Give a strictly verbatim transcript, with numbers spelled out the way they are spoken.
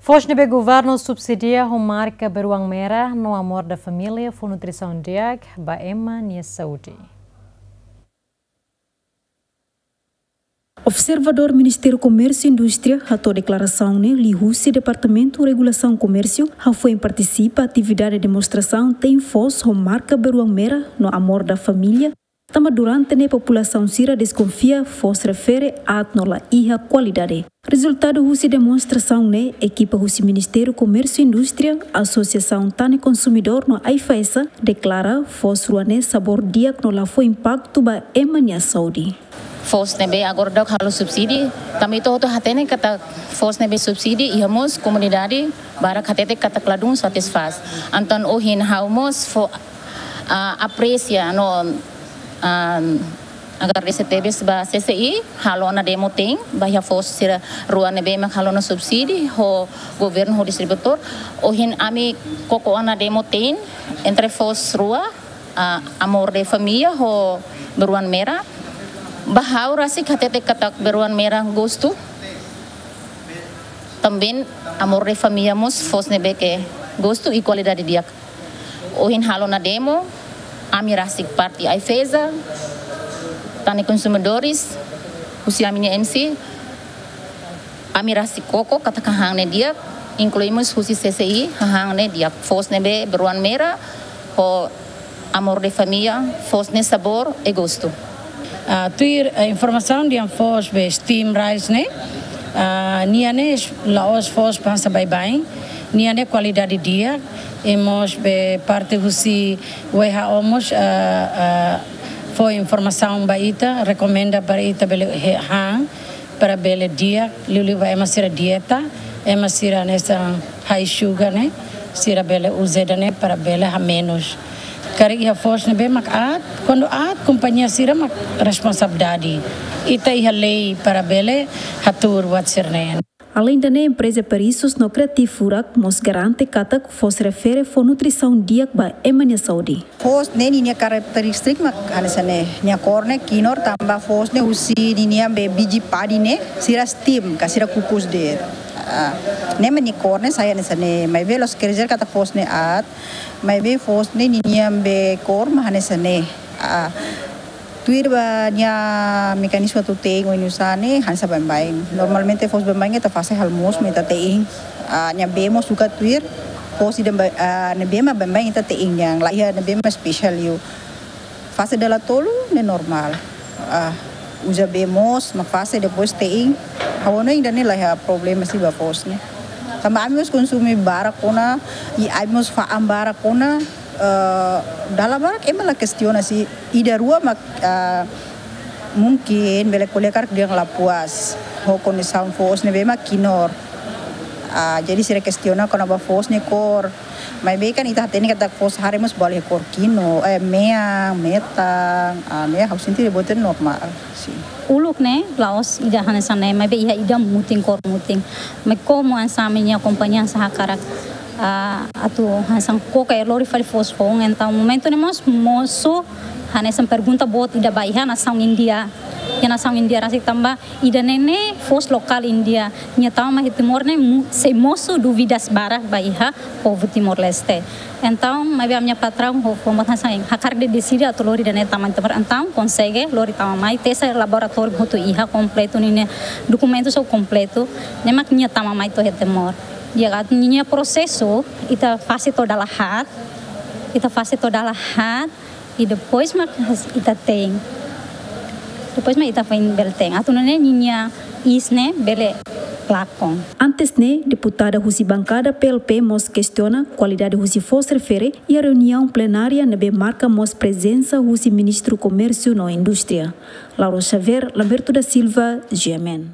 Foos ne'ebé governu subsidia ho marka beruang merah no Amor da Família fó nutrisaun di'ak ba ema nia saúde. Observadór Ministériu Komérsiu Indústria hato'o deklarasaun ne'e liuhusi Departamentu Regulasaun Komérsiu, hafoin partisipa atividade demonstrasaun te'in foos ho marka beruang merah no Amor da Família, tanba durante ne'e populasaun sira deskonfia foos refere aat no la iha kualidade. Rezultadu husi demonstrasaun ne'e, ekipa husi Ministériu Komérsiu Indústria, Asosiasaun Tane Konsumidór no AIFAESA deklara foos rua ne'e sabór di'ak no la fó impaktu ba ema nia saúde. Foos ne'ebé agora daudaun halo subsidi, tanba ita hotu hatene katak foos ne'ebé subsidi iha mós komunidade barak hatete katak ladún satisfás. Entaun ohin ha'u mós fó, ah, apresia no, ah, agradese tebes ba C C I, halo ona demo te'in ba iha foos sira rua ne'ebé mak halo ona subsidi ho governu ho distribuidór. Ohin ami koko ona demo te'in entre foos rua, ah, Amor da Família ho Beruang Merah. Ba ha'u rasik hatete katak Beruang Merah gostu. Tanba Amor da Família mós foos ne'ebé ke gostu i kualidade di'ak. Ohin halo ona demo, ami rasik parte AIFAESA, Tane Konsumidores, husi ami-nia M C, ami rasik koko katak hahán ne'e di'ak, inklui mós husi C C I, hahán ne'e di'ak, foos ne'ebé Beruang Merah ho Amor da Família, foos ne'e sabór i gostu. Ah, tuir, eh, informasaun dehan foos be steam rice ne'e, ah, nia ne'e la'ós foos hanesan baibain, nia ne'e kualidade di'ak, i mós be parte husi W H O mós, ah, ah, fó informasaun ba ita, rekomenda para ita bele he-, han, para bele di'ak, liuliu ba ema sira dieta, ema sira hanesan high sugar ne'e, sira bele uza ida-ne'e para bele hamenus. Karik iha foos ne'ebé mak aat, kuandu aat, kompañia sira mak responsabilidade. Ita iha lei para bele hatuur buat sira-ne'e. Além de ne'e, empreza Perisus no Kreatif Furak mós garante katak foos refere fó nutrisaun di'ak ba ema nia saúde. Foos ne'e ninia karakterístika mak hanesan ne'e, nia kór ne'e kinur tanba foos ne'e husi ninia be biji padi ne'e, sira steam, ka sira kukus de'it. Ah, ne'e mak nia kór ne'e sai hanesan ne'e, maibé la'ós quer dizer katak foos ne'e aat, maibé foos ne'e ninia be kór mak hanesan ne'e. Ah, tuir ba nia mekanizmu atu te'in oinsá ne'e hanesan baibain. Normalmente foos baibain ita fase halo moos mak ita te'in. Ah, nia bee mós sukat tuir foos ida ba-, ah, ne'ebé mak baibain ita te'in, yang la iha ne'ebé mak spesiál liu. Fase dala tolu ne'e normál. Ah, uza bee moos mak fase depois te'in. Ha'u hanoin ida-ne'e la iha problema sira ba foos ne'e. Tanba ami mós konsume barak ona, i ami mós fa'an barak ona, eh, dala barak ema la kestiona sih. Ida rua mak, ah, mungkin bele ko'alia karik dehan la puas ho kondisaun foos ne'ebé mak kinur. Ah, jadi sira kestiona kona-ba foos nia kór. Maibé kan ita hatene katak foos haree mós bolu iha kór kinur, eh, mean, metan, ah, ne'e ha'u sente buat ne'e normál, sih. Uluk ne'e, la'ós ida hanesan ne'e, maibé iha ida mutin kór mutin. Maibé komu hanesan ami-nia kompañia hanesan hakarak, ah, atu hanesan koko e lori fali foos foun, entaun momentu ne'e mós mosu hanesan pergunta boot ida ba iha nasaun Índia. Iha nasaun Índia rasik tanba ida-ne'e ne'e foos lokál Índia. Nia tama mai Timor ne'e mu-, sei mosu dúvidas barak ba iha povu Timor-Leste. Entaun, maibé ami-nia patraun ho fó mós hanesan hakarak deside atu lori ida-ne'e tama mai Timor. Entaun, konsege lori tama mai, testa laboratóriu hotu iha kompletu ninia dokumentu só kompletu, ne'e mak nia tama mai to'o iha Timor. Di'ak, atu ninia prosesu, ita fase to'o dala haat, ita fase to'o dala haat, i depois mak ita te'in. Depois mak ita foin bele te'in. Atu nune'e ninia iis ne'e bele lakon. Antes ne'e, deputada husi bankada P L P mós kestiona kualidade husi foos refere iha reuniaun plenária ne'ebé marka mós prezensa husi Ministru Komérsiu no Indústria, Lauro Xavier, Lamberto da Silva, G M N.